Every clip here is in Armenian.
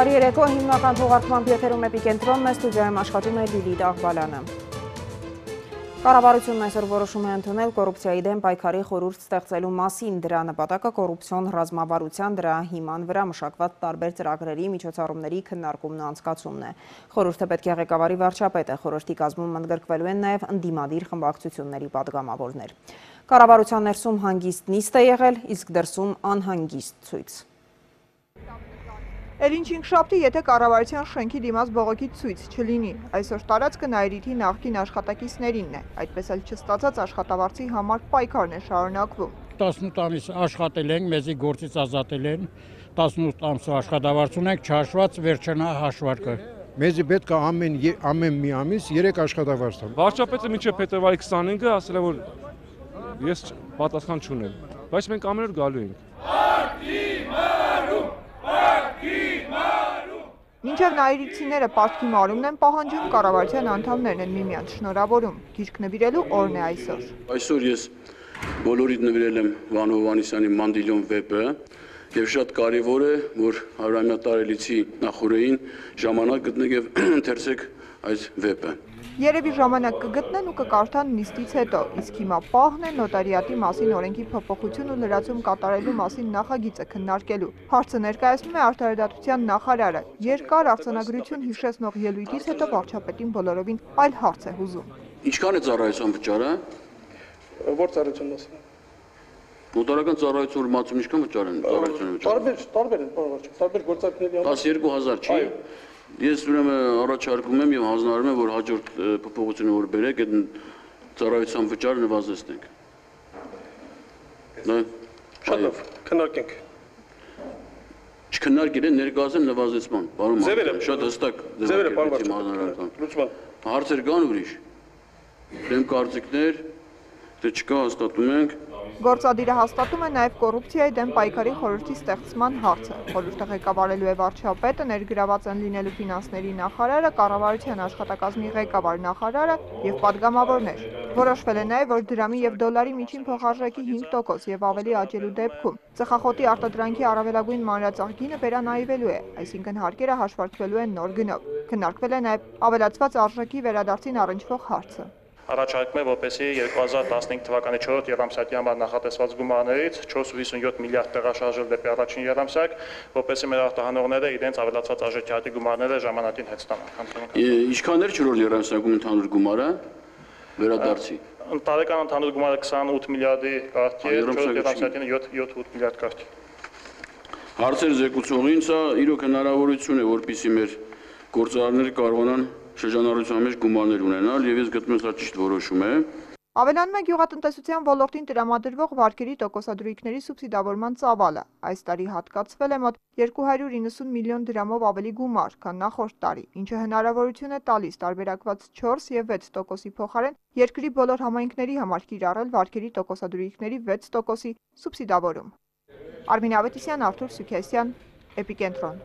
Բարի երեկո, հիմնական թողարկման եթերում Էպիկենտրոնն է, ստուդիայում աշխատում է Լիլիթ Աղբալյանը։ Կառավարությունն այսօր որոշում է ընդունել կոռուպցիայի դեմ պայքարի խորհուրդ ստեղծելու մասին։ Դրա նպատակը կոռուպցիոն ռազմավարության, դրա հիման վրա մշակված տարբեր ծրագրերի, միջոցառումների քննարկումն ու անցկացումն է։ Խորհուրդը պետք է ղեկավարի վարչապետը, խորհրդի կազմում ընդգրկվելու են նաև ընդդիմադիր խմբակցությունների պատգամավորներ։ Կառավարության ներսում հանգիստ նիստ է եղել, իսկ դրսում անհանգիստ ցույց։ Էլինչինգշաբթի, եթե կառավարության շենքի դիմաց բողոքի ցույց չլինի, այսօր տարածքը Նայիրիթի նախկին աշխատակիցներինն է, այդպես էլ չստացած աշխատավարձի համար պայքարն է շարունակվում։ 18 ամիս աշխատել ենք, մեզի գործից ազատել են, 18 ամսու աշխատավարձ ունենք, չհաշված վերջնա հաշվարկը։ Մեզի պետք է ամեն մի ամիս 3 աշխատավարձ տամ։ Վարչապետը մինչև փետրվարի 25-ը ասել է, որ ես պատասխան չունեմ, բայց մենք ամեն օր գալու ենք։ Մինչև նայիրիցիները պարտքի մարումն են պահանջում, կառավարության անդամներն են միմյանց շնորհավորում։ Գիրք նվիրելու օրն է այսօր։ Այսօր ես բոլորիդ նվիրել եմ Վան Հովհաննիսյանի Մանդիլյոն վեպը եւ շատ կարեւոր է, որ Հարավային նախորդին ժամանակ գտնեք եւ ընթերցեք այս վեպը։ Երևի ժամանակ կգտնեն ու կկարդան նիստից հետո, իսկ հիմա պահն է նոտարիատի մասին օրենքի փոփոխություն ու լրացում կատարելու մասին նախագիծը քննարկելու։ Հարցը ներկայացնում է Արդարադատության նախարարը։ Երկար արձանագրություն հիշեցնող ելույթից հետո վարչապետին բոլորովին այլ հարց է հուզում։ Ինչքան է ծառայության վճարը։ Որ ծառայության մասին։ Նոտարական ծառայություն ուրմացում ինչքան վճար են ծառայության վճարը։ Տարբեր են, պարոն, տարբեր գործարքների համար։ 12000 չի։ Ես ուրեմն առաջարկում եմ եւ հանձնարարում եմ, որ հաջորդ փոփոխությունը որ բերեք, այդ ծառայության վճարը նվազեցնենք։ Շատ լավ, քննարկենք։ Չքննարկել են ներկայացան նվազեցման, պարոն Մարտիրոսյան, շատ հստակ ձևերը, պարոն Մարտիրոսյան։ Հարցեր կան ուրիշ։ Դեմ կարծիքներ, դե չկա, հաստատում ենք։ Գործադիրը հաստատում է նաև կոռուպցիայի դեմ պայքարի խորհրդի ստեղծման հարցը։ Խորհուրդը ղեկավարելու է վարչապետը, ներգրաված են լինելու ֆինանսների նախարարը, կառավարության աշխատակազմի ղեկավար նախարարը եւ պատգամավորներ։ Որոշվել է նաև, որ դրամի եւ դոլարի միջին փոխարժեքի 5% եւ ավելի աճելու դեպքում ծխախոտի արտադրանքի առավելագույն մանրածախ գինը վերանայվելու է, այսինքն հարկերը հաշվարկվելու են նոր գնով։ Քննարկվել է նաև ավելացված արժեքի վերադարձին առնչվող հարցը։ Առաջարկում է, որպեսզի 2015 թվականի 4-րդ եռամսյակի համար նախատեսված գումարներից 4.57 միլիարդ տեղաշարժել դեպի առաջին եռամսյակ, որպեսզի մեր արտահանողները իրենց ավելացված արժեքի հատի գումարները ժամանակին հետ ստանան։ Ինչքան էր 4-րդ եռամսյակում ընդհանուր գումարը վերադարձի։ Տարեկան ընդհանուր գումարը 28 միլիարդի կարգի է, 4-րդ եռամսյակին 7-8 միլիարդ կարգի։ Հարցեր զեկուցողին սա իրոք հնարավորություն է, որպեսզի մեր գործարարները կարողանան շրջանառության մեջ գումարներ ունենալ եւ ես գտնում եմ սա ճիշտ որոշում է։ Ավելանում է գյուղատնտեսության ոլորտին տրամադրվող վարկերի տոկոսադրույքների սուբսիդավորման ծավալը։ Այս տարի հատկացվել է մոտ 290 միլիոն դրամով ավելի գումար, քան նախորդ տարի, ինչը հնարավորություն է տալիս տարբերակված 4 եւ 6%-ի փոխարեն երկրի բոլոր համայնքների համար կիրառել վարկերի տոկոսադրույքների 6%-ի սուբսիդավորում։ Արմին Ավետիսյան, Արթուր Սուքեսյան, Էպիկենտրոն։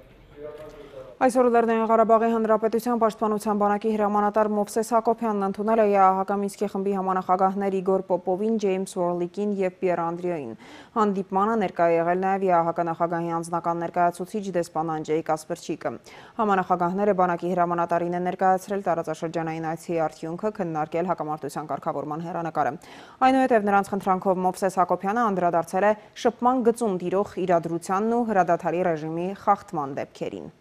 Այսօր Լեռնային Ղարաբաղի Հանրապետության պաշտպանության բանակի հրամանատար Մովսես Հակոբյանն ընդունել է ԵԱՀԿ Մինսկի խմբի համանախագահներ Իգոր Պոպովին, Ջեյմս Ուորլիկին եւ Պիեր Անդրեոին։ Հանդիպմանը ներկա է եղել նաեւ ԵԱՀԿ նախագահի անձնական ներկայացուցիչ դեսպան Անջեյ Կասպերչիկը։ Համանախագահները բանակի հրամանատարին են ներկայացրել տարածաշրջանային այցի արդյունքը, քննարկել հակամարտության կարգավորման հեռանկարը։ Այնուհետև նրանց խնդրանքով Մովսես Հակոբյանը անդրադարձել է շփման գծում տիրող իրադրությանն ու հրադադարի ռեժիմի խախտման դեպքերին։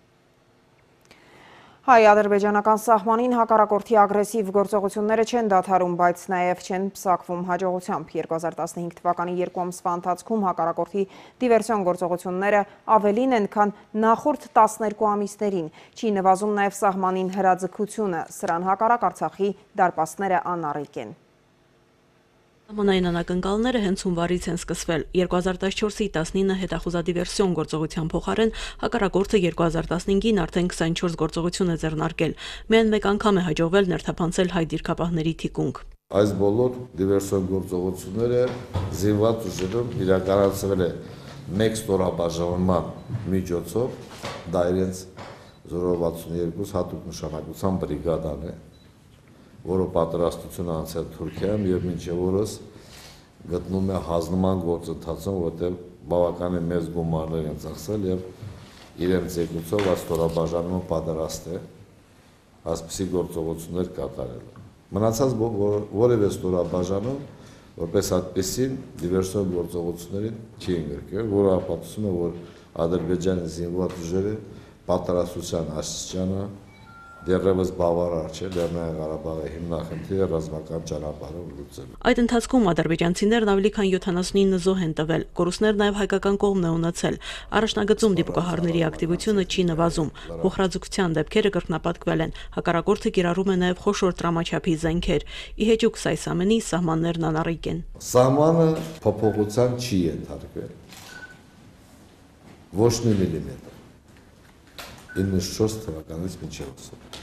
Հայ-ադրբեջանական սահմանին հակառակորդի ագրեսիվ գործողությունները չեն դադարում, բայց նաև չեն պսակվում հաջողությամբ։ 2015 թվականի 2 ամսվա ընթացքում հակառակորդի դիվերսիոն գործողությունները ավելին են, քան նախորդ 12 ամիսներին։ Չի նվազում նաև սահմանին հրաձգությունը, սրան հակառակ Արցախի դարպասները անառիկ են։ Սահմանային անակնկալները հենց հունվարից են սկսվել։ 2014-ի 19 հետախուզադիվերսիոն գործողության փոխարեն հակառակորդը 2015-ին արդեն 24 գործողություն է ձեռնարկել։ Միայն մեկ անգամ է հաջողվել ներթափանցել հայ դիրքապահների թիկունք։ Այս բոլոր դիվերսիոն գործողությունները զինված ուժերով իրականացվել է մեկ ստորաբաժանման միջոցով, դա իրենց 062 հատուկ նշանակության բրիգադան է, որը պատրաստություն անցել Թուրքիայում եւ մինչեւ օրս գտնում է հանձնման գործընթացում, որտեղ բավականին մեծ գումարներ են ծախսել եւ իրենց եկուցով այս ստորաբաժանումը պատրաստ է այսպիսի գործողություններ կատարելու։ Մնացած որևէ ստորաբաժանում որպես այդպեսին դիվերսիոն գործողություններին չի ընդգրկվել, որը ապացուցում է, որ Ադրբեջանի զինված ուժերը պատրաստության աստիճանը դեռևս բավարար չէ Լեռնային Ղարաբաղի հիմնախնդիրը ռազմական ճանապարհով լուծելու։ Այդ ընթացքում ադրբեջանցիներն ավելի քան 79 զոհ են տվել, կորուստներ նաև հայկական կողմն է ունեցել։ Առաջնագծում դիպուկահարների ակտիվությունը չի նվազում, փոխհրաձգության դեպքերը կրկնապատկվել են, հակառակորդը կիրառում է նաև խոշոր տրամաչափի զենքեր։ Ի հեճուկ այս ամենի սահմաններն անառիկ են։ Սահմանը փոփոխության չի ենթարկվել։ Ոչ մի միլիմետր։ 94 թվականից մինչև այսօր։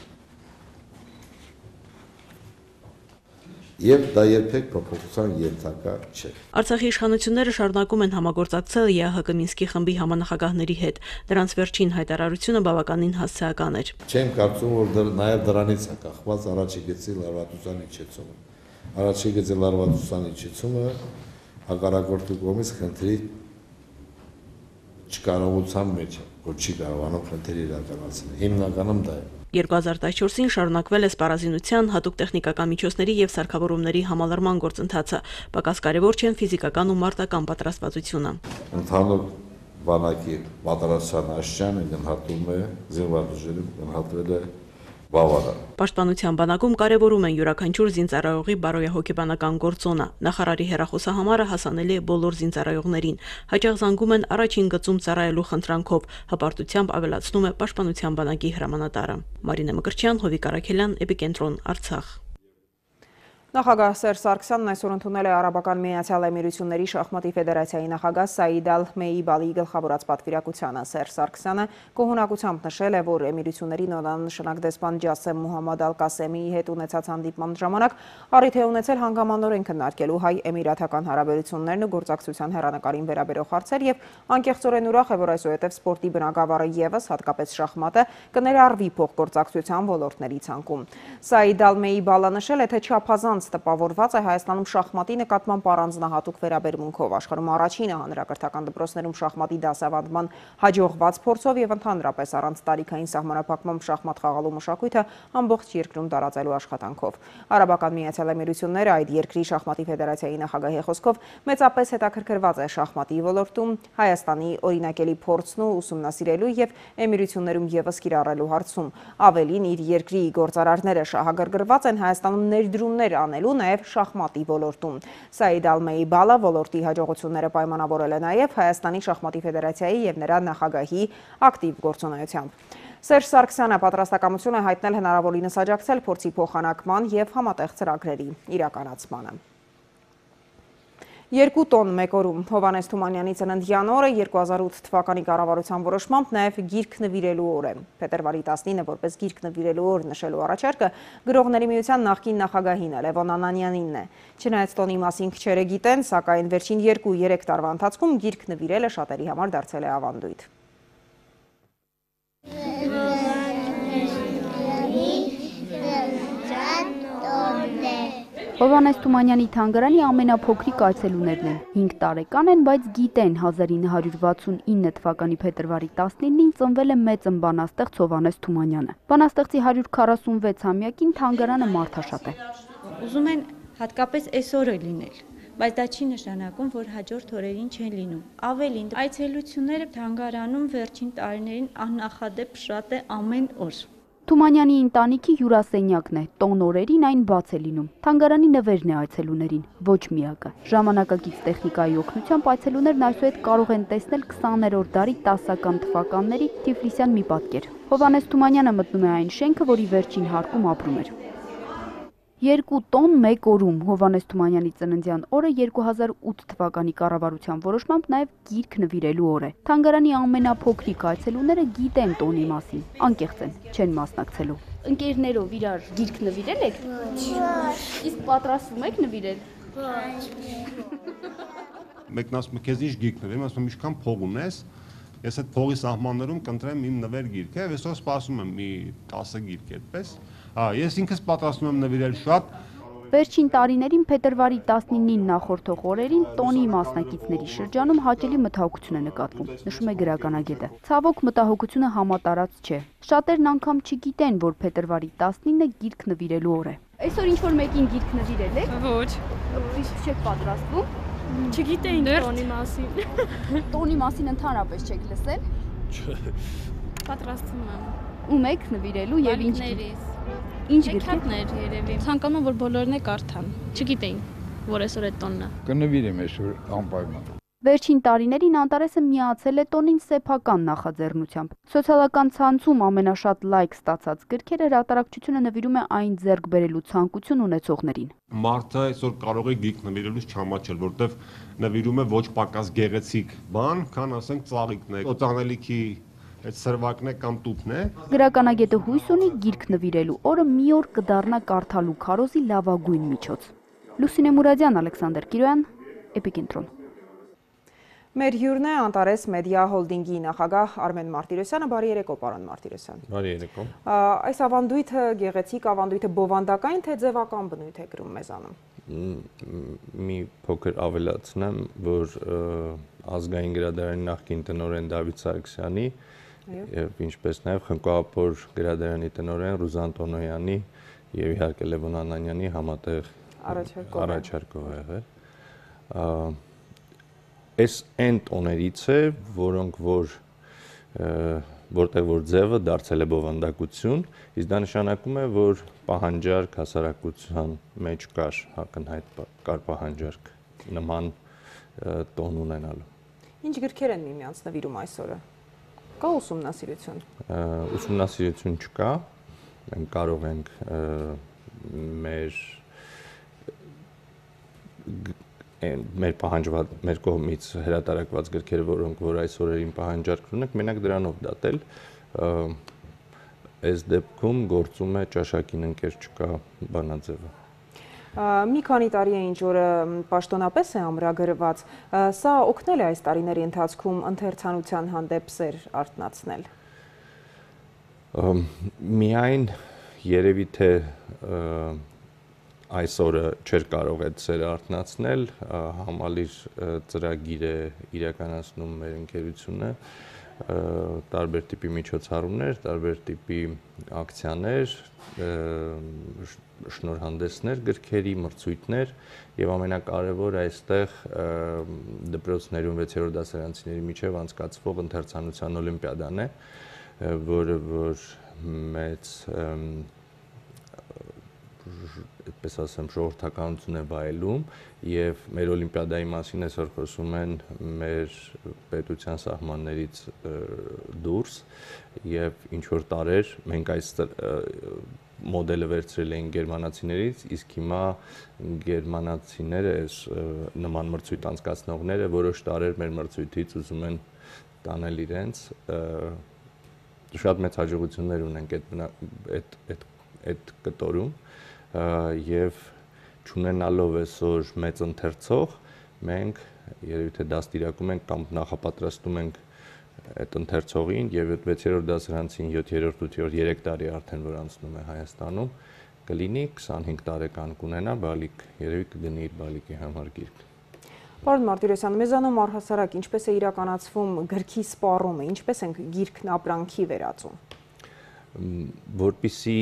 Եվ դա երբեք փոփոխության ենթակա չէ։ Արցախի իշխանությունները շարունակում են համագործակցել ԵԱՀԿ Մինսկի խմբի համանախագահների հետ։ Դրանց վերջին հայտարարությունը բավականին հասցեական էր։ Չեմ կարծում, որ նաև դրանից է կախված առաջի գծի լարվածության իջեցումը։ Առաջի գծի լարվածության իջեցումը հակառակորդի կողմից խնդրի չկարողության մեջ է, որ չի կարողանում խնդիրը իրականացնել։ Հիմնականում դա է։ 2014-ին շարունակվել է սպառազինության, հատուկ տեխնիկական միջոցների եւ սարքավորումների համալրման գործընթացը։ Պակաս կարևոր չեն ֆիզիկական ու մարտական պատրաստվածությունը։ Ընդհանուր բանակի պատրաստության աստիճանը գնահատում է զինված ուժերի գնահատվել է բավարար։ Պաշտպանության բանակում կարևորում են յուրաքանչյուր զինծառայողի բարոյահոգեբանական գործոնը։ Նախարարի հեռախոսահամարը հասանելի է բոլոր զինծառայողներին։ Հաճախ զանգում են առաջին գծում ծառայելու խնդրանքով, հպարտությամբ ավելացնում է Պաշտպանության բանակի հրամանատարը։ Մարինե Մկրտչյան, Հովիկ Արաքելյան, Էպիկենտրոն, Արցախ։ Նախագահ Սերժ Սարգսյանն այսօր ընդունել է Արաբական Միացյալ Էմիրությունների շախմատի ֆեդերացիայի նախագահ Սաիդ Ալ-Մեյիբալի գլխավորած պատվիրակությանը։ Սերժ Սարգսյանը գոհունակությամբ նշել է, որ Էմիրությունների նորանշանակ դեսպան Ջասեմ Մուհամմադ Ալ-Կասեմիի հետ ունեցած հանդիպման ժամանակ առիթ է ունեցել հանգամանորեն քննարկելու հայ-էմիրաթական հարաբերություններն ու գործակցության հեռանկարին վերաբերող հարցեր եւ անկեղծորեն ուրախ է, որ այսուհետև սպորտի բնագավառը եւս հատկապես շախմատը կներառվի փոխգործակցության ոլորտների ցանկում։ Սաիդ Ալ-Մեյիբալը նշել է, թե չափազանց տպավորված է Հայաստանում շախմատի նկատմամբ առանձնահատուկ վերաբերմունքով, աշխարհում առաջինը հանրակրթական դպրոցներում շախմատի դասավանդման հաջողված փորձով եւ ընդհանրապես առանց տարիքային սահմանափակմամբ շախմատ խաղալու մշակույթը ամբողջ երկրում տարածելու աշխատանքով։ Արաբական Միացյալ Էմիրությունները այդ երկրի շախմատի ֆեդերացիայի նախագահի խոսքով մեծապես հետաքրքրված է շախմատի ոլորտում Հայաստանի օրինակելի փորձն ու ուսումնասիրելու եւ Էմիրություններում եւս կիրառելու հարցում։ Ավելին, իր երկրի գործարարները շահագրգռված են Հայաստանում ներդրումներ անելու նաև շախմատի ոլորտում։ Սաիդ Ալ-Մեյիբալը ոլորտի հաջողությունները պայմանավորել է նաև Հայաստանի շախմատի ֆեդերացիայի եւ նրա նախագահի ակտիվ գործունեությամբ։ Սերժ Սարգսյանը պատրաստակամություն է հայտնել հնարավորինս աջակցել փորձի փոխանակման եւ համատեղ ծրագրերի իրականացմանը։ 2 տոն մեկ օրում Հովհաննես Թումանյանի ծննդյան օրը 2008 թվականի կառավարության որոշմամբ նաև գիրք նվիրելու օր է։ Փետրվարի 19-ը որպես գիրք նվիրելու օր նշելու առաջարկը գրողների միության նախկին նախագահին Լևոն Անանյանինն է։ Չնայած տոնի մասին քչերը գիտեն, սակայն վերջին 2-3 տարվա ընթացքում գիրք նվիրելը շատերի համար դարձել է ավանդույթ։ Հովհաննես Թումանյանի թանգարանի ամենափոքրիկ այցելուներն են։ 5 տարեկան են, բայց գիտեն 1969 թվականի փետրվարի 19-ին ծնվել է մեծն բանաստեղծ Հովհաննես Թումանյանը։ Բանաստեղծի 146-ամյակին թանգարանը մարդաշատ է։ Ուզում են հատկապես այսօրը լինել, բայց դա չի նշանակում, որ հաջորդ օրերին չեն լինում։ Ավելին, այցելությունները թանգարանում վերջին տարիներին աննախադեպ շատ է ամեն օր։ Թումանյանի ընտանիքի հյուրասենյակն է, տոն օրերին այն բաց է լինում։ Թանգարանի նվերն է այցելուներին, ոչ միակը։ Ժամանակակից տեխնիկայի օգնությամբ այցելուներն այսուհետ կարող են տեսնել 20-րդ դարի 10-ական թվականների Թիֆլիսյան մի պատկեր։ Հովհաննես Թումանյանը մտնում է այն շենքը, որի վերջին հարկում ապրում էր։ 2 տոն մեկ օրում Հովհաննես Թումանյանի ծննդյան օրը 2008 թվականի կառավարության որոշմամբ նաև գիրք նվիրելու օր է։ Թանգարանի ամենափոքրիկ այցելուները գիտեն տոնի մասին, անկեղծ են, չեն մասնակցելու։ Ընկերներով իրար գիրք նվիրել եք։ Իսկ պատրաստվում եք նվիրել։ Մեկն ասում է, քեզ ինչ գիրք նվիրեմ, ասում եմ, ինչքան փող ունես, ես այդ փողի սահմաններում կընտրեմ իմ նվեր գիրքը, եւ այսօր սպասում եմ մի 10 գիրք այդպես։ Ես ինքս պատրաստում եմ նվիրել շատ, Վերջին տարիներին փետրվարի 19-ին նախորդող օրերին տոնի մասնակիցների շրջանում հաճելի մտահոգություն է նկատվում, նշում է գրականագետը։ Ցավոք մտահոգությունը համատարած չէ։ Շատերն անգամ չգիտեն, որ փետրվարի 19-ը գիրք նվիրելու օր է։ Այսօր ինչ-որ մեկին գիրք նվիրել եք։ Ոչ։ Իսկ չեք պատրաստվում։ Չգիտեինք տոնի մասին։ Տոնի մասին ընդհանրապես չեք լսել։ Պատրաստվում եմ։ Ում եք նվիրելու եւ ինչ։ Ինչ գրքեր երևի։ Ցանկանում եմ, որ բոլորն է կարդան։ Չգիտեին, որ այսօր է տոնն է։ Կնվիրեմ այսօր անպայման։ Վերջին տարիներին Անտարեսը միացել է տոնին սեփական նախաձեռնությամբ։ Սոցիալական ցանցում ամենաշատ լայք ստացած գրքերը հրատարակչությունը նվիրում է այն ձեռք բերելու ցանկություն ունեցողներին։ Մարդը այսօր կարող է գիրք նվիրելուց չամաչել, որտեվ նվիրում է ոչ պակաս գեղեցիկ բան, քան ասենք ծաղիկն է, օծանելիքի այդ սրվակն է կամ տուփն է։ Գրականագետը հույս ունի գիրք նվիրելու օրը մի օր կդառնա կարդալու քարոզի լավագույն միջոց։ Լուսինե Մուրադյան, Ալեքսանդր Կիրոյան, Էպիկենտրոն։ Մեր հյուրն է Անտարես Մեդիա հոլդինգի նախագահ Արմեն Մարտիրոսյանը, բարի երեկո, պարոն Մարտիրոսյան։ Բարի երեկո։ Այս ավանդույթը գեղեցիկ ավանդույթը բովանդակային թե ձևական բնույթ է կրում մեզանում։ Մի փոքր ավելացնեմ, որ ազգային գրադարանի նախկին տնօրեն Դավիթ Սարգսյանի եւ ինչպես նաեւ Խնկոապոր գրադարանի տնօրեն Ռուզան Տոնոյանի եւ իհարկե Լևոն Անանյանի համատեղ առաջարկով է եղել։ Այս այն տոներից է, որոնք որտեղ որ ձևը դարձել է բովանդակություն, իսկ դա նշանակում է, որ պահանջարկ հասարակության մեջ կար պահանջարկ նման տոն ունենալու։ Ինչ գրքեր են միմյանց նվիրում այսօրը։ Կա ուսումնասիրություն։ Ուսումնասիրություն չկա, մենք կարող ենք մեր պահանջված, մեր կողմից հրատարակված գրքերը, որոնք որ այս օրերին պահանջարկ ունենք, մենակ դրանով դատել, այս դեպքում գործում է ճաշակին ընկեր չկա բանաձևը։ Մի քանի տարի է ինչ որը պաշտոնապես է ամրագրված, սա օգնել է այս տարիների ընթացքում ընթերցանության հանդեպ սեր արթնացնել։ Միայն երևի թե այսօրը չէր կարող այդ սերը արթնացնել, համալիր ծրագիր է իրականացնում մեր ընկերությունը, տարբեր տիպի միջոցառումներ, տարբեր տիպի ակցիաներ, շնորհանդեսներ, գրքերի, մրցույթներ եւ ամենակարևորը այստեղ դպրոցներում 6-րդ դասարանցիների միջև անցկացվող ընթերցանության օլիմպիադան է, որը որ մեծ այդպես ասեմ ժողովրդականություն է վայելում եւ մեր օլիմպիադայի մասին այսօր խոսում են մեր պետության սահմաններից դուրս եւ ինչ որ տարեր մենք այս մոդելը վերցրել էին գերմանացիներից, իսկ հիմա գերմանացիները այս նման մրցույթ անցկացնողները որոշ տարեր մեր մրցույթից ուզում են տանել իրենց շատ մեծ հաջողություններ ունենք այդ կտորում եւ չունենալով այսօր մեծ ընթերցող մենք երևի թե դաստիարակում ենք կամ նախապատրաստում ենք այդ ընթերցողին եւ 6-րդ դասարանցին 7-րդ 8-րդ 3 տարի արդեն որ անցնում է Հայաստանում կլինի 25 տարեկան կունենա բալիկ երևի կգնի իր բալիկի համար գիրք։ Պարոն Մարտիրոսյան, մեզանում առհասարակ ինչպես է իրականացվում գրքի սպառումը, ինչպես են գիրքն ապրանքի վերածում։ Որպեսզի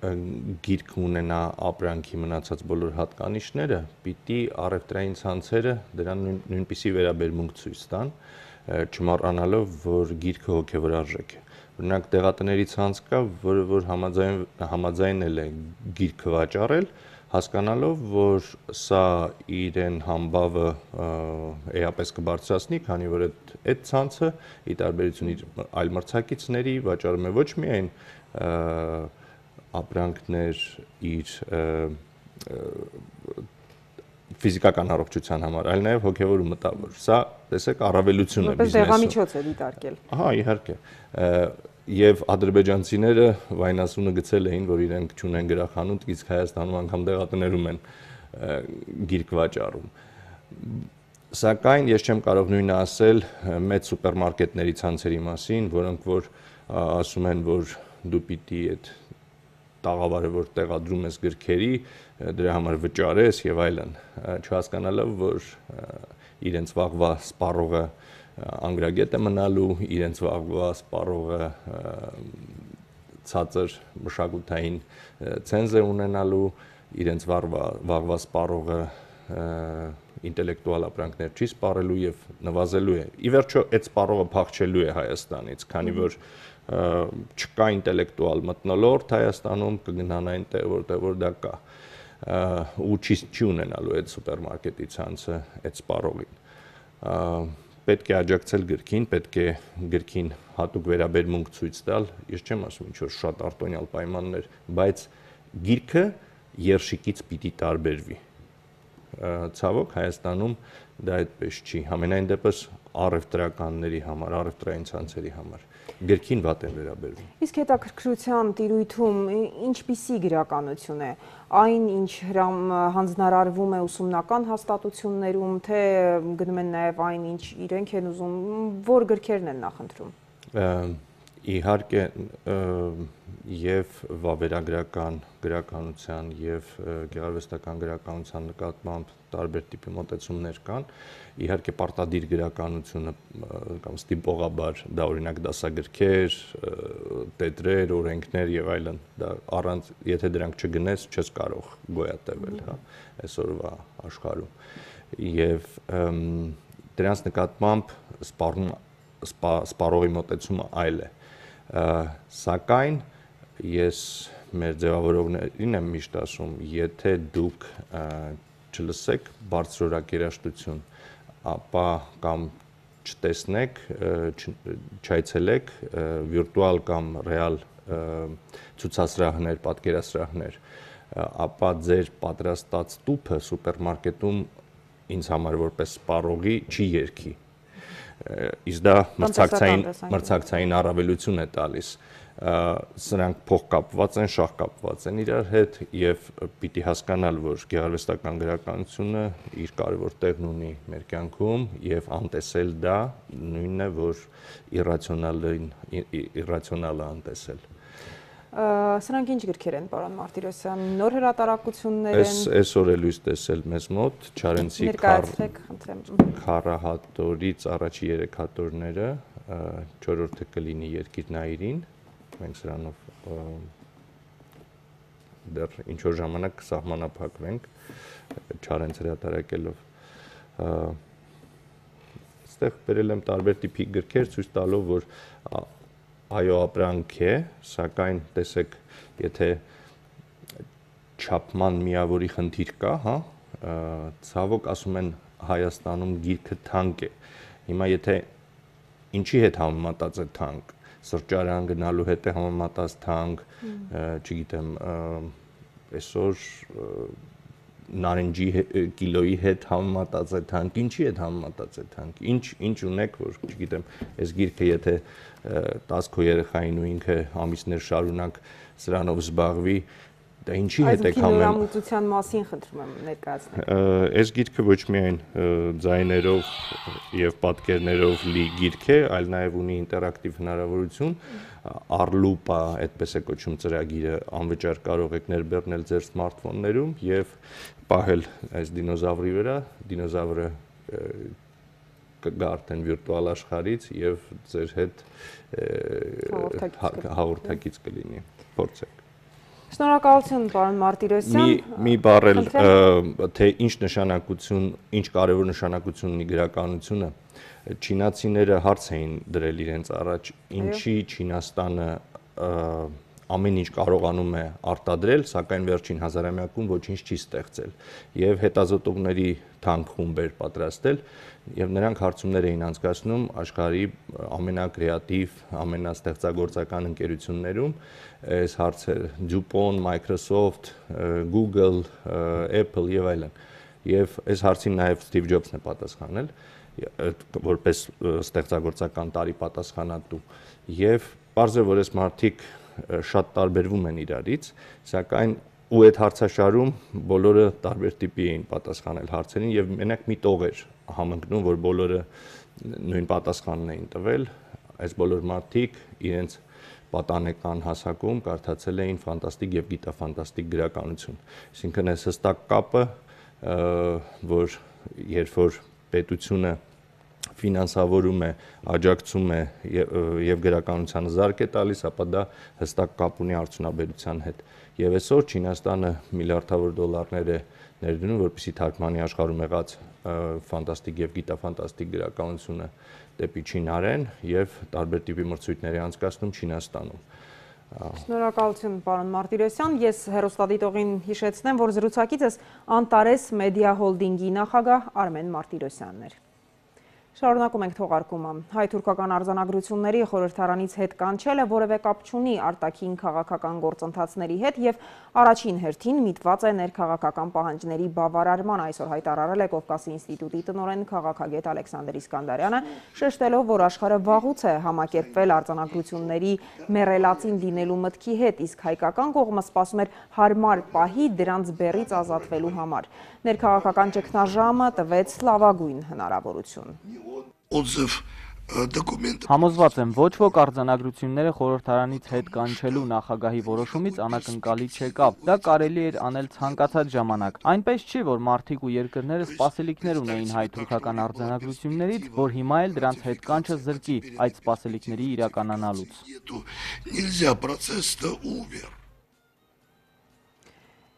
գիրք ունենա ապրանքի մնացած բոլոր հատկանիշները, պիտի առևտրային ցանցերը դրան նույնպիսի վերաբերմունք ցույց տան, չմոռանալով, որ գիրքը հոգևոր արժեք է։ Օրինակ տեղատների ցանց կա, որը որ համաձայնել է գիրքը վաճառել, հասկանալով, որ սա իրեն համբավը էապես կբարձրացնի, քանի որ այդ ցանցը ի տարբերություն իր այլ մրցակիցների վաճառում է ոչ միայն ապրանքներ իր ֆիզիկական առողջության համար, այլ նաև հոգևոր ու մտավոր։ Սա, տեսեք, առավելություն է բիզնեսում։ Դեղամիջոց է դիտարկել։ Ահա, իհարկե։ Եվ ադրբեջանցիները վայնասունը գցել էին, որ իրենք չունեն գրախանութ, իսկ Հայաստանում անգամ դեղատներում են գիրք վաճառում։ Սակայն ես չեմ կարող նույնը ասել մեծ սուպերմարկետների ցանցերի մասին, որոնք որ ասում են, որ դու պիտի այդ տաղավարը, որ տեղադրում ես գրքերի, դրա համար վճարես եւ այլն, չհասկանալով, որ իրենց վաղվա սպառողը անգրագետ է մնալու, իրենց վաղվա սպառողը ցածր մշակութային ցենզ է ունենալու, իրենց վաղվա սպառողը ինտելեկտուալ ապրանքներ չի սպառելու եւ նվազելու է։ Ի վերջո այդ սպառողը փախչելու է Հայաստանից, քանի որ չկա ինտելեկտուալ մթնոլորտ Հայաստանում, կգնան այնտեղ, որտեղ դա կա, ու չի ունենալու այդ սուպերմարկետի ցանցը այդ սպառողին։ Պետք է աջակցել գրքին, պետք է գրքին հատուկ վերաբերմունք ցույց տալ, ես չեմ ասում ինչ որ շատ արտոնյալ պայմաններ, բայց գիրքը երշիկից պիտի տարբերվի։ Ցավոք Հայաստանում դա այդպես չի, համենայն դեպս առևտրականների համար, առևտրային ցանցերի համար գրքին վատ են վերաբերվում։ Իսկ հետաքրքրության տիրույթում ինչպիսի գրականություն է, այն ինչ հանձնարարվում է ուսումնական հաստատություններում, թե գնում են նաև այն ինչ իրենք են ուզում, որ գրքերն են նախընտրում։ Իհարկե եւ վավերագրական գրականության եւ գեղարվեստական գրականության նկատմամբ տարբեր տիպի մոտեցումներ կան, իհարկե պարտադիր գրականությունը կամ ստիպողաբար դա օրինակ դասագրքեր, տետրեր, օրենքներ եւ այլն, դա առանց եթե դրանք չգնես չես կարող գոյատևել, հա, այսօրվա աշխարհում։ Եվ դրանց նկատմամբ սպառողի մոտեցումը այլ է։ Սակայն ես մեր ձևավորողներին եմ միշտ ասում, եթե դուք չլսեք բարձրորակ երաժշտություն, ապա կամ չտեսնեք, չայցելեք վիրտուալ կամ ռեալ ցուցասրահներ, պատկերասրահներ, ապա ձեր պատրաստած տուփը սուպերմարկետում ինձ համար որպես սպառողի չի երգի։ Իսկ դա մրցակցային առավելություն է տալիս։ Սրանք փոխկապված են, շահկապված են իրար հետ եւ պիտի հասկանալ, որ գեղարվեստական գրականությունը իր կարևոր տեղն ունի մեր կյանքում եւ անտեսել դա նույնն է, որ իրացիոնալը անտեսել։ Սրանք ինչ գրքեր են, պարոն Մարտիրոսյան, նոր հրատարակություններ են։ Այսօր է լույս տեսել մեզ մոտ Չարենցի Քարահատորից առաջի 3 հատորները, 4-րդը կլինի Երկիրնայիրին, մենք սրանով դեռ ինչ որ ժամանակ կսահմանափակվենք Չարենց հրատարակելով։ Այստեղ բերել եմ տարբեր տիպի գրքեր, ցույց տալով, որ այո ապրանք է, սակայն տեսեք, եթե չափման միավորի խնդիր կա, հա, ցավոք ասում են Հայաստանում գիրքը թանկ է։ Հիմա եթե ինչի հետ համեմատած է թանկ, սրճարան գնալու հետ է համեմատած թանկ, չգիտեմ, այսօր նարնջի կիլոյի հետ համեմատած է թանկ, ինչի հետ համեմատած է թանկ, ինչ ունեք, որ չգիտեմ, այս գիրքը եթե 10 քո երեխային ու ինքը ամիսներ շարունակ սրանով զբաղվի, դա ինչի հետ եք համեմատության մասին խնդրում եմ ներկայացնել։ Այս գիրքը ոչ միայն ձայներով եւ պատկերներով լի գիրք է, այլ նաեւ ունի ինտերակտիվ հնարավորություն, Arlupa, այդպես է կոչվում ծրագիրը, անվճար կարող եք ներբեռնել ձեր սմարթֆոններում եւ պահել այս դինոզավրի վրա, դինոզավրը կգա արդեն վիրտուալ աշխարհից եւ ձեր հետ հաղորդակից կլինի, փորձեք։ Շնորհակալություն, պարոն Մարտիրոսյան։ Մի բառել, թե ինչ կարևոր նշանակություն ունի գրականությունը, չինացիները հարց էին դրել իրենց առաջ, ինչի Չինաստանը ամեն ինչ կարողանում է արտադրել, սակայն վերջին հազարամյակում ոչինչ չի ստեղծել եւ հետազոտողների թանկ խումբեր պատրաստել եւ նրանք հարցումներ էին անցկացնում աշխարհի ամենակրեատիվ, ամենաստեղծագործական ընկերություններում, այս հարցերը DuPont, Microsoft, Google, Apple եւ այլն։ Եվ այս հարցին նաեւ Steve Jobs-ն է պատասխանել, որպես ստեղծագործական տարի պատասխանատու։ Եվ պարզ է, որ այս մարդիկ շատ տարբերվում են իրարից, սակայն ու այդ հարցաշարում բոլորը տարբեր տիպի էին պատասխանել հարցերին եւ մենակ մի տող էր համընկնում, որ բոլորը նույն պատասխանն էին տվել, այս բոլոր մարդիկ իրենց պատանեկան հասակում կարդացել էին ֆանտաստիկ եւ գիտաֆանտաստիկ գրականություն։ Այսինքն այս հստակ կապը, որ երբ որ պետությունը ֆինանսավորում է, աջակցում է եւ գրականությանը զարկ է տալիս, ապա դա հստակ կապ ունի արդյունաբերության հետ։ Եվ այսօր Չինաստանը միլիարդավոր դոլարներ է ներդնում, որպեսզի թարգմանի աշխարհում եղած ֆանտաստիկ եւ գիտաֆանտաստիկ գրականությունը դեպի Չինարեն եւ տարբեր տիպի մրցույթների անցկացնում Չինաստանում։ Շնորհակալություն, պարոն Մարտիրոսյան։ Ես հեռուստադիտողին հիշեցնեմ, որ զրուցակիցս Անտարես Մեդիա Հոլդինգի նախագահ Արմեն Մարտիրոսյանն էր։ Շարունակում ենք թողարկումը։ Հայ-թուրքական արձանագրությունների խորհրդարանից հետ կանչելը որևէ կապ չունի արտաքին քաղաքական գործընթացների հետ եւ առաջին հերթին միտված է ներքաղաքական պահանջների բավարարման, այսօր հայտարարել է Կովկասի ինստիտուտի տնօրեն քաղաքագետ Ալեքսանդր Իսկանդարյանը, շեշտելով, որ աշխարհը վաղուց է համակերպվել արձանագրությունների մեռելածին լինելու մտքի հետ, իսկ հայկական կողմը սպասում էր հարմար պահի դրանց բեռից ազատվելու համար։ Ներքաղաքական ճգնաժամը տվեց լավագույն հնարավորություն։ Համոզված եմ, ոչ ոք արձանագրությունները խորհրդարանից հետ կանչելու նախագահի որոշումից անակնկալի չեկավ։ Դա կարելի էր անել ցանկացած ժամանակ։ Այնպես չի, որ մարդիկ ու երկրները սպասելիքներ ունեին հայ-թուրքական արձանագրություններից, որ հիմա էլ դրանց հետ կանչը զրկի այդ սպասելիքների իրականանալուց։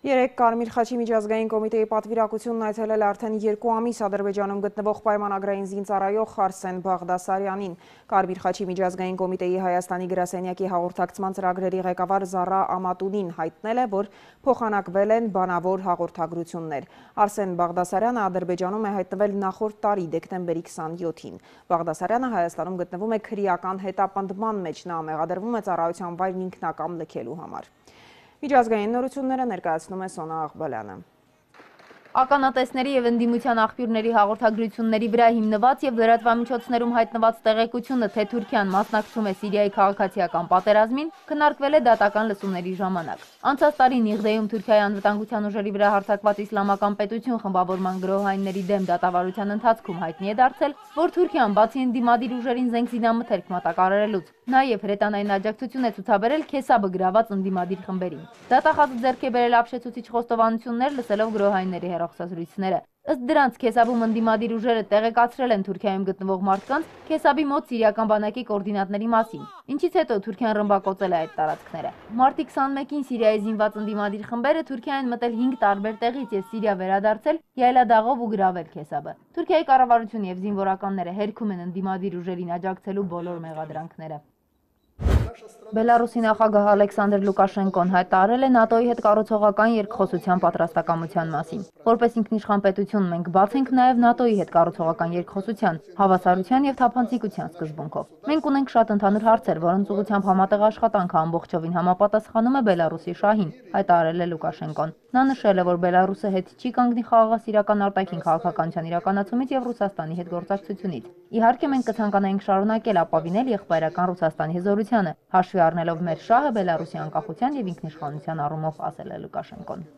Երեկ Կարմիր խաչի միջազգային կոմիտեի պատվիրակությունն այցելել արդեն 2 ամիս Ադրբեջանում գտնվող պայմանագրային զինծառայող Արսեն Բաղդասարյանին։ Կարմիր խաչի միջազգային կոմիտեի Հայաստանի գրասենյակի հաղորդակցման ծրագրերի ղեկավար Զարա Ամատունին հայտնել է, որ փոխանակվել են բանավոր հաղորդագրություններ։ Արսեն Բաղդասարյանը Ադրբեջանում է հայտնվել նախորդ տարի դեկտեմբերի 27-ին։ Բաղդասարյանը Հայաստանում գտնվում է քրեական հետապնդման մեջ, նա մեղադրվում է ծառայության վայրն ինքնակամ լքելու համար։ Միջազգային նորությունները ներկայացնում է Սոնա Աղբալյանը։ Ականատեսների եւ ընդդիմության աղբյուրների հաղորդագրությունների վրա հիմնված եւ լրատվամիջոցներում հայտնված տեղեկությունը, թե Թուրքիան մասնակցում է Սիրիայի քաղաքացիական պատերազմին, քննարկվել է դատական լսումների ժամանակ։ Անցած տարի Նիղդեում Թուրքիայի անվտանգության ուժերի վրա հարձակված իսլամական պետություն խմբավորման գրոհայինների դեմ դատավարության ընթացքում հայտնի է դարձել, որ Թուրքիան բացի ընդդիմադիր ուժերին զենքզինամթերք մատակարարելուց, նաեւ հրետանային աջակցություն է ցուցաբերել Քեսաբը գրաված ընդդիմադիր խմբերին։ Դատախազը ձեռք է բերել ապշեցուցիչ խոստովանություններ, լսելով գրոհայինների հեռախոսազրույցները։ Ըստ դրանց Քեսաբում ընդդիմադիր ուժերը տեղեկացրել են Թուրքիայում գտնվող մարդկանց Քեսաբի մոտ սիրիական բանակի կոորդինատների մասին, ինչից հետո Թուրքիան ռմբակոծել է այդ տարածքները։ Մարտի 21-ին Սիրիայի զինված ընդդիմադիր խմբերը Թուրքիային մտել 5 տարբեր տեղից եւ Սիրիա վերադարձել յայլադաղով ու գրավել Քեսաբը։ Թուրքիայի կառավարությունը եւ զինվորականները հերքում են ընդդիմադիր ուժերին աջակցելու բոլոր մեղադրանքները։ Բելարուսի նախագահ Ալեքսանդր Լուկաշենկոն հայտարարել է ՆԱՏՕ-ի հետ կառուցողական երկխոսության պատրաստակամության մասին։ Որպես ինքնիշխան պետություն մենք բաց ենք նաև ՆԱՏՕ-ի հետ կառուցողական երկխոսության, հավասարության եւ թափանցիկության սկզբունքով։ Մենք ունենք շատ ընդհանուր հարցեր, որոնց ուղղությամբ համատեղ աշխատանքը ամբողջովին համապատասխանում է Բելարուսի շահին, հայտարարել է Լուկաշենկոն։ Նա նշել է, որ Բելարուսը հետ չի կանգնի խաղաղասիրական արտաքին քաղաքականության իրականացումից եւ Ռուսաստանի հետ գործակցությունից։ Իհարկե մենք կցանկանայինք շարունակել ապավինել եղբայրական Ռուսաստանի հզորությանը, հաշվի առնելով մեր շահը Բելարուսի անկախության եւ ինքնիշխանության առումով, ասել է Լուկաշենկոն։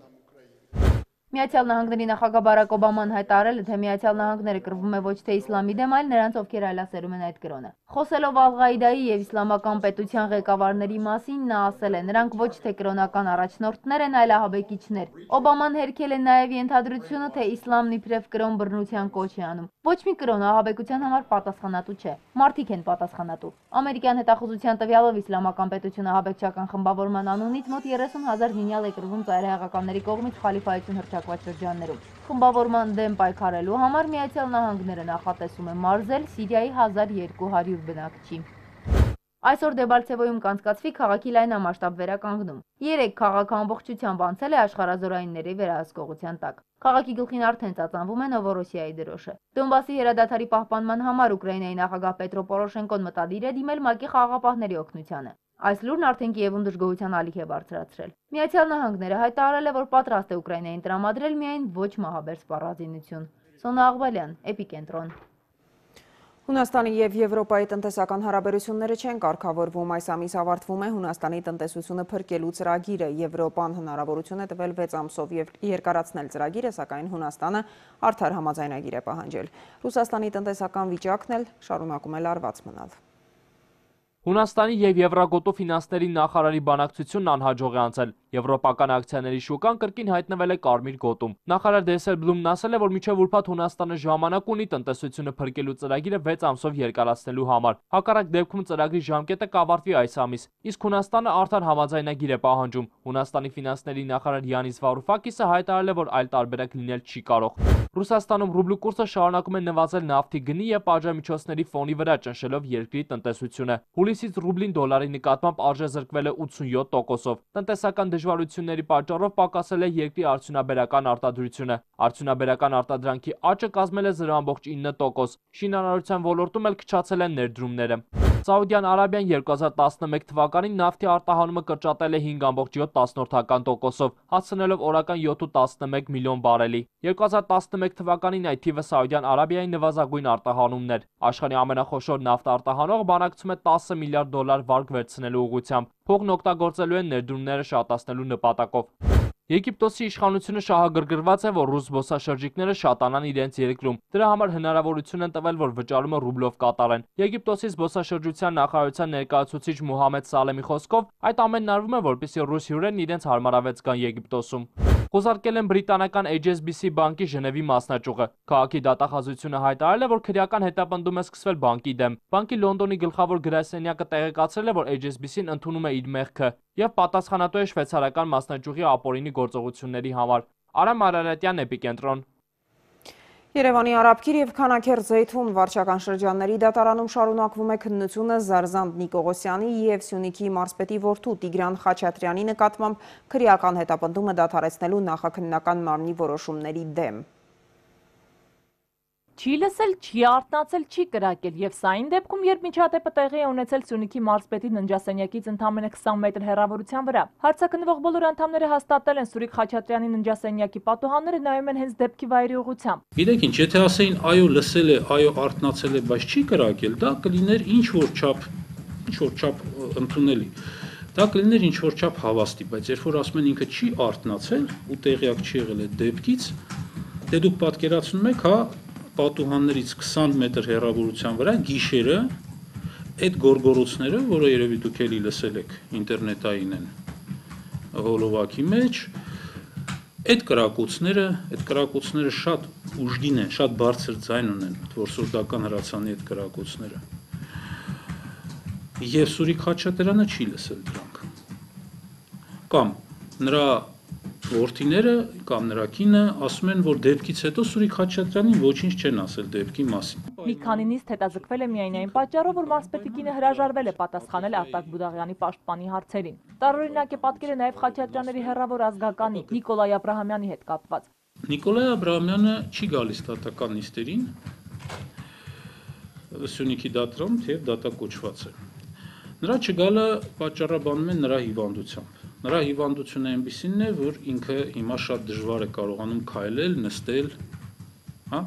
Միացյալ Նահանգների նախագահ Բարակ Օբաման հայտարարել է, թե Միացյալ Նահանգները կռվում է ոչ թե իսլամի դեմ, այլ նրանց, ովքեր այլասերում են այդ կրոնը։ Խոսելով Ալ-Ղաիդայի եւ իսլամական պետության ղեկավարների մասին, նա ասել է, նրանք ոչ թե կրոնական առաջնորդներ են, այլ ահաբեկիչներ։ Օբաման հերքել է նաեւ ենթադրությունը, թե իսլամն իբրև կրոն բռնության կոչ է անում։ Ոչ մի կրոն ահաբեկության համար պատասխանատու չէ։ Մարդիկ են պատասխանատու։ Ամերիկյան հետախուզության տվյալով իսլամական պետությունը ահաբեկչական խմբավորման անունից մոտ 30,000 զինյալ է կռվում ծայրահեղականների կողմից խալիֆայություն հռչակված շրջաններում։ Խմբավորման դեմ պայքարելու համար Միացյալ Նահանգները նախատեսում է մարզել Սիրիայի 1200 բնակչի։ Այսօր Դեբալցևոյում կանցկացվի քաղաքի լայնամասշտաբ վերականգնում։ 3 քաղաքը ամբողջությամբ անցել է աշխարհազորայինների վերահսկողության տակ։ Քաղաքի գլխին արդեն ծածանվում է Նովորոսիայի դրոշը։ Դոնբասի հրադադարի պահպանման համար Ուկրաինայի նախագահ Պետրո Պորոշենկոն մտադիր է դիմել ՄԱԿ-ի խաղաղապահների օգնությանը։ Այս լուրն արդեն Կիևում դժգոհության ալիք է բարձրացրել։ Միացյալ Նահանգները հայտարարել է, որ պատրաստ է Ուկրաինային տրամադրել միայն ոչ մահաբեր սպառազինություն։ Սոնա Աղբալյան, Էպիկենտրոն։ Հունաստանի եւ Եվրոպայի տնտեսական հարաբերությունները չեն կարգավորվում, այս ամիս ավարտվում է Հունաստանի տնտեսությունը փրկելու ծրագիրը, Եվրոպան հնարավորություն է տվել 6 ամսով եւ երկարացնել ծրագիրը, սակայն Հունաստանը արդար համաձայնագիր է պահանջել։ Ռուսաստանի տնտեսական վիճակն էլ շարունակում է լարված մնալ։ Հունաստանի եւ Եվրագոտու ֆինանսների նախարարի բանակցությունն անհաջող է անցել։ Եվրոպական ակցիաների շուկան կրկին հայտնվել է կարմիր գոտում։ Նախարար Դեսելբլումն ասել է, որ մինչև ուրբաթ Հունաստանը ժամանակ ունի տնտեսությունը փրկելու ծրագիրը 6 ամսով երկարացնելու համար։ Հակառակ դեպքում ծրագրի ժամկետը կավարտվի այս ամիս։ Իսկ Հունաստանը արդար համաձայնագիր է պահանջում։ Հունաստանի ֆինանսների նախարար Յանիս Վարուֆակիսը հայտարարել է, որ այլ տարբերակ լինել չի կարող։ Ռուսաստանում ռուբլու կուրսը շարունակում է նվազել նավթի գնի եւ պատժամիջոցների ֆոնի վրա, ճնշելով երկրի տնտեսությունը։ Հուլիսից ռուբլին դոլարի նկատմամբ արժեզրկվել է 87%-ով։ Տնտեսական դժվարությունների պատճառով պակասել է երկրի արդյունաբերական արտադրությունը։ Արդյունաբերական արտադրանքի աճը կազմել է 0.9%։ Շինարարության ոլորտում էլ քչացել են ներդրումները։ Սաուդյան Արաբիան 2011 թվականին նավթի արտահանումը կրճատել է 5.7%-ով, հասցնելով օրական 7.11 միլիոն բարելի։ 2011 թվականին այդ թիվը Սաուդյան Արաբիայի նվազագույն արտահանումն էր։ Աշխարհի ամենախոշոր նավթ արտահանող բանակցում է 10 միլիարդ դոլար վարկ վերցնելու ուղղությամբ։ Փողն օգտագործելու են ներդրումները շատացնելու նպատակով։ Եգիպտոսի իշխանությունը շահագրգռված է, որ ռուս զբոսաշրջիկները շատանան իրենց երկրում։ Դրա համար հնարավորություն են տվել, որ վճարումը ռուբլով կատարեն։ Եգիպտոսի զբոսաշրջության նախարարության ներկայացուցիչ Մուհամեդ Սալեմի խոսքով, այդ ամենն արվում է, որպեսզի ռուս հյուրերն իրենց հարմարավետ զգան Եգիպտոսում։ Խոզարկել են բրիտանական HSBC բանկի Ժնևի մասնաճյուղը։ Քաղաքի դատախազությունը հայտարարել է, որ քրեական հետապնդում է սկսվել բանկի դեմ։ Բանկի Լոնդոնի գլխավոր գրասենյակը տեղեկացրել է, որ HSBC-ն ընդունում է իր մեղքը եւ պատասխանատու է շվեյցարական մասնաճյուղի ապօրինի գործողությունների համար։ Արամ Արարատյան, Էպիկենտրոն։ Երևանի Արաբքիր և Քանաքեռ-Զեյթուն վարչական շրջանների դատարանում շարունակվում է քննությունը Զարզանդ Նիկողոսյանի և Սյունիքի մարզպետի որդու Տիգրան Խաչատրյանի նկատմամբ քրեական հետապնդումը դադարեցնելու նախաքննական մարմնի որոշումների դեմ։ Չի լսել, չի արթնացել, չի կրակել եւ սա այն դեպքում, երբ միջադեպը տեղի է ունեցել Սյունիքի մարզպետի ննջասենյակից ընդամենը 20 մետր հեռավորության վրա։ Հարցաքննվող բոլոր անդամները հաստատել են Սուրիկ Խաչատրյանի ննջասենյակի պատուհանները նայում են հենց դեպքի վայրի ուղղությամբ։ Գիտեք ինչ, եթե ասեին այո լսել է, այո արթնացել է, բայց չի կրակել, դա կլիներ ինչ որ չափ ընդունելի։ Դա կլիներ ինչ որ չափ հավաստի, բայց երբ որ ասում են ինքը չի արթնացել ու տեղյակ չի եղել այդ դեպքից, դե դուք պատկերացնում եք, հա, պատուհաններից 20 մետր հեռավորության վրա գիշերը այդ գորգորոցները, որը երևի դուք էլի լսել եք ինտերնետային են հոլովակի մեջ, այդ կրակոցները շատ ուժգին են, շատ բարձր ձայն ունեն, որսորդական հրացանի այդ կրակոցները։ Եվ Սուրիկ Խաչատրյանը չի լսել դրանք։ Կամ նրա որդիները կամ նրա կինը ասում են, որ դեպքից հետո Սուրիկ Խաչատրյանին ոչինչ չեն ասել դեպքի մասին։ Մի քանի նիստ հետաձգվել է միայն այն պատճառով, որ մարզպետի կինը հրաժարվել է պատասխանել Արտակ Բուդաղյանի պաշտպանի հարցերին։ Տարօրինակ է պատկերը նաև Խաչատրյանների հեռավոր ազգականի Նիկոլայ Աբրահամյանի հետ կապված։ Նիկոլայ Աբրահամյանը չի գալիս դատական նիստերին, Սյունիքի դատարան, թեև դատակոչված է։ Նրա չգալը պատճառաբանում են նրա հիվանդությամբ։ Նրա հիվանդությունը այնպիսին է, որ ինքը հիմա շատ դժվար է կարողանում քայլել, նստել, հա։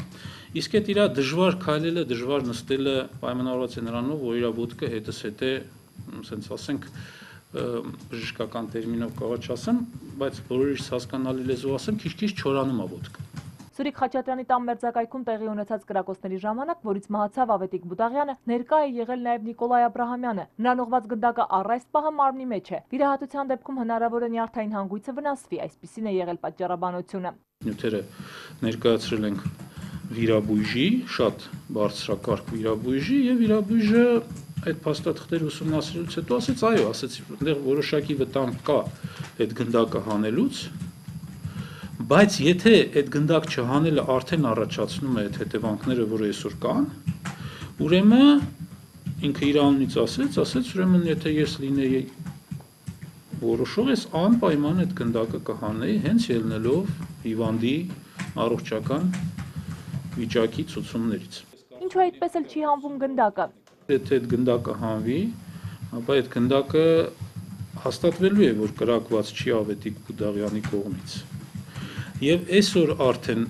Իսկ այդ իր դժվար քայլելը, դժվար նստելը պայմանավորված է նրանով, որ իր ոտքը հետզհետե, ասենց ասենք, բժշկական տերմինով կարող չասեմ, բայց բոլորից հասկանալի լեզվով ասեմ, քիչ-քիչ չորանում է ոտքը։ Սուրիկ Խաչատրյանի տան մերձակայքում տեղի ունեցած կրակոցների ժամանակ, որից մահացավ Ավետիք Բուդաղյանը, ներկա է եղել նաև Նիկոլայ Աբրահամյանը։ Նրան ուղված գնդակը առայստ պահը մարմնի մեջ է։ Վիրահատության դեպքում հնարավոր է նյարդային հանգույցը վնասվի, այսպիսին է եղել պատճառաբանությունը։ Նյութերը ներկայացրել ենք վիրաբույժի, շատ բարձրակարգ վիրաբույժի, եւ վիրաբույժը այդ փաստաթղթերը ուսումնասիրելուց հետո ասեց, այո, ասեց, այնտեղ որոշակի վտանգ կա այդ գնդակը հանելուց, բայց եթե այդ գնդակ չհանելը արդեն առաջացնում է այդ հետևանքները, որը այսօր կան, ուրեմն ինքը իր անունից ասեց, ուրեմն եթե ես լինեի որոշող, ես անպայման այդ գնդակը կհանեի, հենց ելնելով հիվանդի առողջական վիճակի ցուցումներից։ Ինչու այդպես էլ չի հանվում գնդակը։ Եթե այդ գնդակը հանվի, ապա այդ գնդակը հաստատվելու է, որ կրակված չի Ավետիք Բուդաղյանի կողմից։ Եվ այսօր արդեն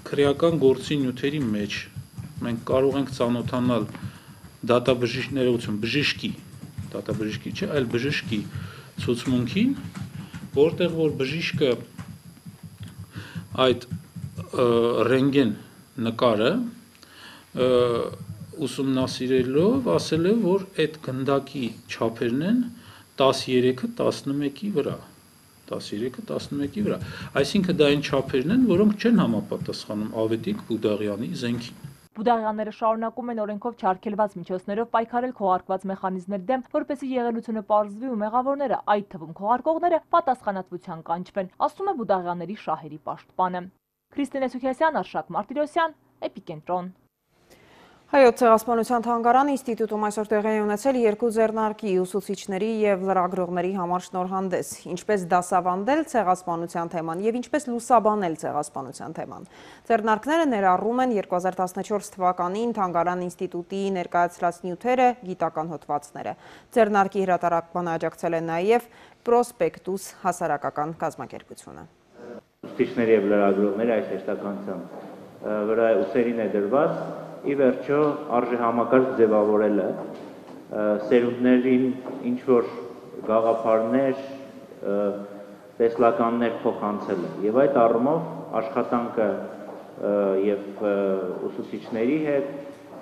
քրեական գործի նյութերի մեջ մենք կարող ենք ծանոթանալ դատաբժիշկներություն, դատաբժշկի չէ, այլ բժշկի ցուցմունքին, որտեղ որ բժիշկը այդ ռենտգեն նկարը ուսումնասիրելով ասել է, որ այդ գնդակի չափերն են 13-ը 11-ի վրա։ 13-ը 11-ի վրա։ Այսինքն դա այն չափերն են, որոնք չեն համապատասխանում Ավետիք Բուդաղյանի զենքին։ Բուդաղյանները շարունակում են օրենքով չարգելված միջոցներով պայքարել քողարկված մեխանիզմների դեմ, որպեսզի եղելությունը պարզվի ու մեղավորները, այդ թվում քողարկողները, պատասխանատվության կանչվեն, ասում է Բուդաղյանների շահերի պաշտպանը։ Քրիստինե Սուքիասյան, Արշակ Մարտիրոսյան, Էպիկենտրոն։ Հայոց ցեղասպանության թանգարան ինստիտուտում այսօր տեղի է ունեցել երկու ձեռնարկի ուսուցիչների եւ լրագրողների համար շնորհանդես, ինչպես դասավանդել ցեղասպանության թեման եւ ինչպես լուսաբանել ցեղասպանության թեման։ Ձեռնարկները ներառում են 2014 թվականին թանգարան ինստիտուտի ներկայացրած նյութերը, գիտական հոդվածները։ Ձեռնարկի հրատարակմանը աջակցել է նաեւ Պրոսպեկտուս հասարակական կազմակերպությունը։ Ուսուցիչների եւ լրագրողների այս հեշտականության վրա ուսերին է դրված ի վերջո արժե համակարգ ձևավորելը, սերունդներին ինչ-որ գաղափարներ, տեսլականներ փոխանցելը եւ այդ առումով աշխատանքը եւ ուսուցիչների հետ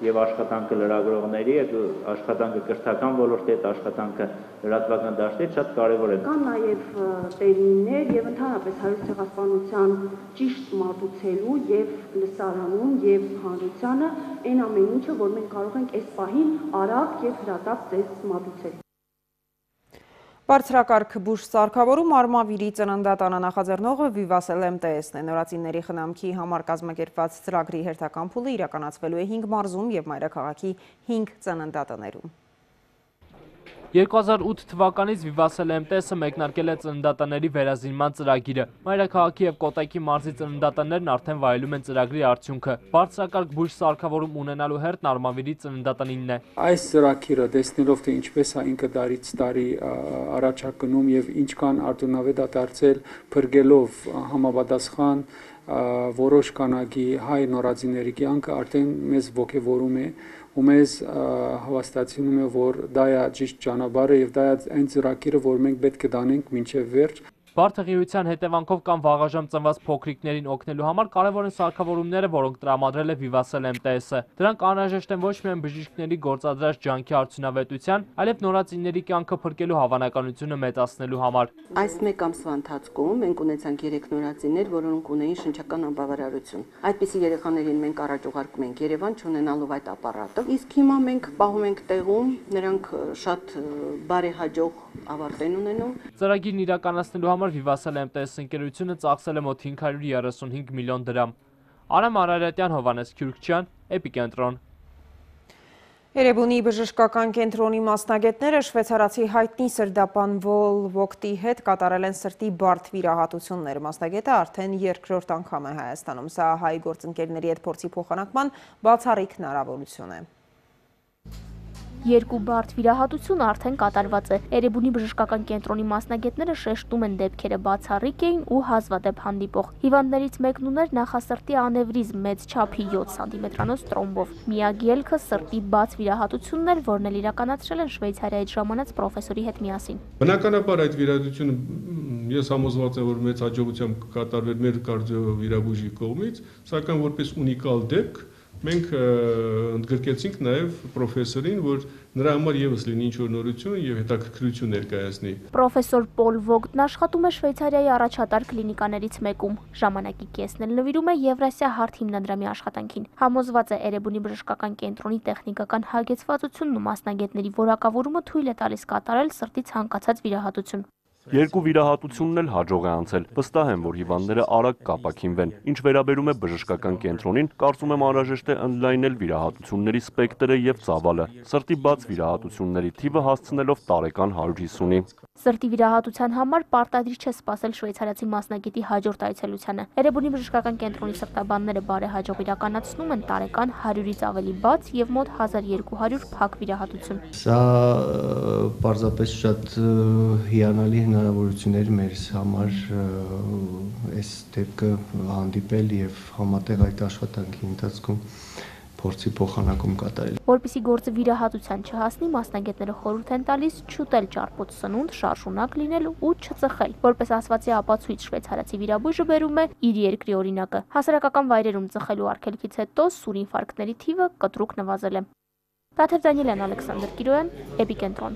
եւ աշխատանքը լրագրողների հետ, աշխատանքը կրթական ոլորտի հետ, աշխատանքը լրատվական դաշտի հետ շատ կարեւոր է։ Կան նաեւ տերմիններ եւ ընդհանրապես հայոց ցեղասպանության ճիշտ մատուցելու եւ լսարանում եւ հանրությանը այն ամեն ինչը, որ մենք կարող ենք այս պահին արագ եւ հրատապ տես մատուցել։ Բարձրակարգ բուժ սարքավորում Արմավիրի ծննդատանը նախաձեռնողը Վիվասել MTS-ն է։ Նորածինների խնամքի համար կազմակերպված ծրագրի հերթական փուլը իրականացվելու է 5 մարզում եւ մայրաքաղաքի 5 ծննդատներում։ 2008 թվականից Վիվասել MTS-ը մեկնարկել է ծննդատների վերազինման ծրագիրը։ Մայրաքաղաքի եւ Կոտայքի մարզի ծննդատներն արդեն վայելում են ծրագրի արդյունքը։ Բարձրակարգ բուժ սարքավորում ունենալու հերթն Արմավիրի ծննդատանինն է։ Այս ծրագիրը տեսնելով թե ինչպես է ինքը տարից տարի առաջակնում եւ ինչքան արդյունավետ է դարձել փրկելով համապատասխան որոշ քանակի հայ նորածինների կյանքը, արդեն մեզ ոգևորում է ու մեզ հավաստացնում է, որ դա է ճիշտ ճանապարհը եւ դա է այն ծրագիրը, որ մենք պետք է դանենք մինչեւ վերջ։ Բարդեղիության հետևանքով կամ վաղաժամ ծնված փոքրիկներին օգնելու համար կարևոր են սարքավորումները, որոնք տրամադրել է Վիվասել MTS-ը։ Դրանք անհրաժեշտ են ոչ միայն բժիշկների գործադրած ջանքի արդյունավետության, այլև նորածինների կյանքը փրկելու հավանականությունը մեծացնելու համար։ Այս մեկ ամսվա ընթացքում մենք ունեցանք 3 նորածիններ, որոնք ունեին շնչական անբավարարություն։ Այդպիսի երեխաներին մենք առաջ ուղարկում ենք Երևան չունենալով այդ ապարատը։ Իսկ հիմա մենք պահում ենք տեղում, նրանք շատ բարեհաջող ավարտ են ունենում։ Ծրագիրն իրականացնելու համար Վիվասել MTS ընկերությունը ծախսել է մոտ 535 միլիոն դրամ։ Արամ Արարատյան, Հովանես Քյուրքչյան, Էպիկենտրոն։ Էրեբունի բժշկական կենտրոնի մասնագետները շվեյցարացի հայտնի սրդապան Վոլ Վոկտի հետ կատարել են սրտի բարդ վիրահատություններ։ Մասնագետը արդեն երկրորդ անգամ է Հայաստանում։ Սա հայ գործընկերների հետ փորձի փոխանակման բացառիկ հնարավորություն է։ Երկու բարդ վիրահատություն արդեն կատարված է։ Էրեբունի բժշկական կենտրոնի մասնագետները շեշտում են դեպքերը բացառիկ էին ու հազվադեպ հանդիպող։ Հիվանդներից մեկն ուներ նախասրտի անևրիզմ մեծ չափի 7 սանտիմետրանոց տրոմբով։ Միակ ելքը սրտի բաց վիրահատությունն էր, որն էլ իրականացրել են Շվեյցարիայից ժամանած պրոֆեսորի հետ միասին։ Բնականաբար այդ վիրահատությունը ես համոզված եմ, որ մեծ հաջողությամբ կկատարվեր մեր կարդիովիրաբույժի կողմից, սակայն որպես ունիկալ դեպք մենք ընդգրկեցինք նաև պրոֆեսորին, որ նրա համար եւս լինի ինչ-որ նորություն եւ հետաքրքրություն ներկայացնի։ Պրոֆեսոր Պոլ Վոգտն աշխատում է Շվեյցարիայի առաջատար կլինիկաներից մեկում։ Ժամանակի կեսն էլ նվիրում է Եվրասիա հարթ հիմնադրամի աշխատանքին։ Համոզված է Էրեբունի բժշկական կենտրոնի տեխնիկական հագեցվածությունն ու մասնագետների որակավորումը թույլ է տալիս կատարել սրտի ցանկացած վիրահատություն։ Երկու վիրահատությունն էլ հաջող է անցել։ Վստահ եմ, որ հիվանդները արագ կապակինվեն։ Ինչ վերաբերում է բժշկական կենտրոնին, կարծում եմ անհրաժեշտ է ընդլայնել վիրահատությունների սպեկտրը եւ ծավալը, սրտի բաց վիրահատությունների թիվը հասցնելով տարեկան 150-ի։ Սրտի վիրահատության համար պարտադիր չէ սպասել շվեյցարացի մասնագետի հաջորդ այցելությանը։ Էրեբունի բժշկական կենտրոնի սրտաբանները բարեհաջող իրականացնում են տարեկան 100-ից ավելի բաց եւ մոտ 1200 փակ վիրահատություն։ Սա պարզապես շատ հիանալի հնարավորություններ մեր համար այս դեպքը հանդիպել եւ համատեղ այդ աշխատանքի ընթացքում փորձի փոխանակում կատարել։ Որպեսզի գործը վիրահատության չհասնի, մասնագետները խորհուրդ են տալիս չուտել ճարպոտ սնունդ, շարժունակ լինել ու չծխել։ Որպես ասվածի ապացույց շվեյցարացի վիրաբույժը բերում է իր երկրի օրինակը։ Հասարակական վայրերում ծխելու արգելքից հետո սուր ինֆարկտների թիվը կտրուկ նվազել է։ Տաթև Դանիելյան, Ալեքսանդր Կիրոյան, Էպիկենտրոն։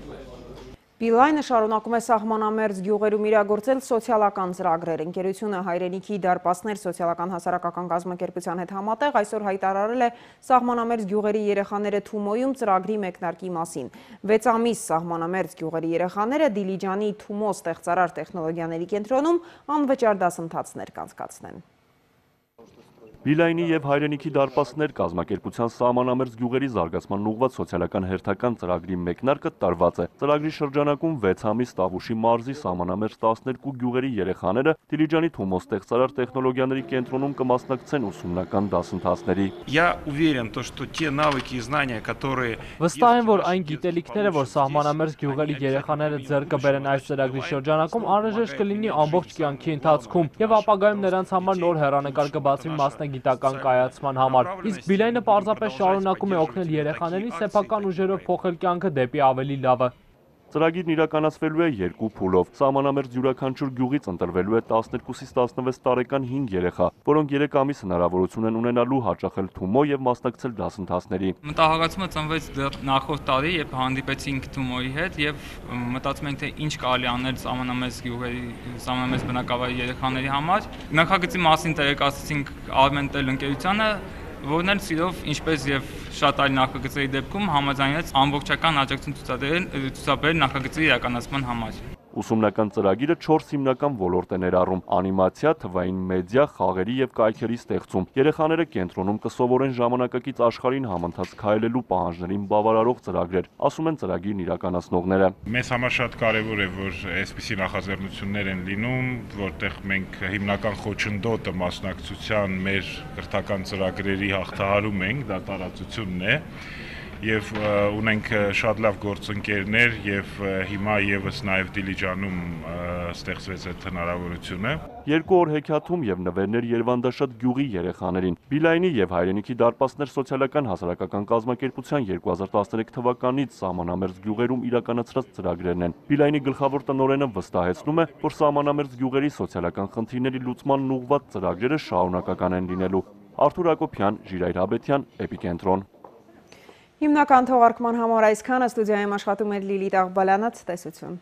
Բիլայնը շարունակում է սահմանամերձ գյուղերում իրագործել սոցիալական ծրագրեր։ Ընկերությունը Հայրենիքի դարպասներ սոցիալական հասարակական կազմակերպության հետ համատեղ այսօր հայտարարել է սահմանամերձ գյուղերի երեխաները Թումոյում ծրագրի մեկնարկի մասին։ 6 ամիս սահմանամերձ գյուղերի երեխաները Դիլիջանի Թումո ստեղծարար տեխնոլոգիաների կենտրոնում անվճար դասընթացներ կանցկացնեն։ Բիլայնի եւ Հայրենիքի դարպասներ կազմակերպության սահմանամերձ գյուղերի զարգացման ուղղված սոցիալական հերթական ծրագրի մեկնարկը տարված է։ Ծրագրի շրջանակում 6 ամիս Տավուշի մարզի սահմանամերձ 12 գյուղերի երեխաները Դիլիջանի Թումո ստեղծարար տեխնոլոգիաների կենտրոնում կմասնակցեն ուսումնական դասընթացների։ Վստահ եմ, որ այն գիտելիքները, որ սահմանամերձ գյուղերի երեխաները ձեռք կբերեն այս ծրագրի շրջանակում, անհրաժեշտ կլինի ամբողջ կյանքի ընթացքում եւ ապագայում նրանց համար նոր հեռանկար կբացվի մասնագիտական կայացման համար։ Իսկ Բիլայնը պարզապես շարունակում է օգնել երեխաներին սեփական ուժերով փոխել կյանքը դեպի ավելի լավը։ Ծրագիրն իրականացվելու է 2 փուլով։ Սահմանամերձ յուրաքանչյուր գյուղից ընտրվելու է 12-ից 16 տարեկան 5 երեխա, որոնք 3 ամիս հնարավորություն են ունենալու հաճախել Թումո եւ մասնակցել դասընթացների։ Մտահոգացումը ծնվեց դեռ նախորդ տարի, երբ հանդիպեցինք Թումոյի հետ եւ մտածում ենք, թե ինչ կարելի անել սահմանամերձ գյուղերի, սահմանամերձ բնակավայրի երեխաների համար։ Նախագծի մասին տեղեկացրեցինք Արմենտել ընկերությանը, որն էլ սիրով, ինչպես եւ շատ այլ նախագծերի դեպքում համաձայնեց ամբողջական աջակցություն ցուցաբերել նախագծի իրականացման համար։ Ուսումնական ծրագիրը 4 հիմնական ոլորտ է ներառում՝ անիմացիա, թվային մեդիա, խաղերի եւ կայքերի ստեղծում։ Երեխաները կենտրոնում կսովորեն ժամանակակից աշխարհին համընթաց քայլելու պահանջներին բավարարող ծրագրեր, ասում են ծրագիրն իրականացնողները։ Մեզ համար շատ կարեւոր է, որ այսպիսի նախաձեռնություններ են լինում, որտեղ մենք հիմնական խոչընդոտը մասնակցության մեր կրթական ծրագրերի հաղթահարում ենք, դա տարածությունն է։ Եվ ունենք շատ լավ գործընկերներ եւ հիմա եւս նաեւ Դիլիջանում ստեղծվեց այդ հնարավորությունը։ 2 օր հեքիաթում եւ նվերներ Երևանդաշատ գյուղի երեխաներին։ Բիլայնի եւ Հայրենիքի դարպասներ սոցիալական հասարակական կազմակերպության 2013 թվականից սահմանամերձ գյուղերում իրականացրած ծրագրերն են։ Բիլայնի գլխավոր տնօրենը վստահեցնում է, որ սահմանամերձ գյուղերի սոցիալական խնդիրների լուծմանն ուղղված ծրագրերը շարունակական են լինելու։ Արթուր Հակոբյան, Ժիրայր Հաբետյան, Էպիկենտրոն։ Հիմնական թողարկման համար այսքանը, ստուդիայում աշխատում էր Լիլիթ Աղբալյանը, ցտեսություն։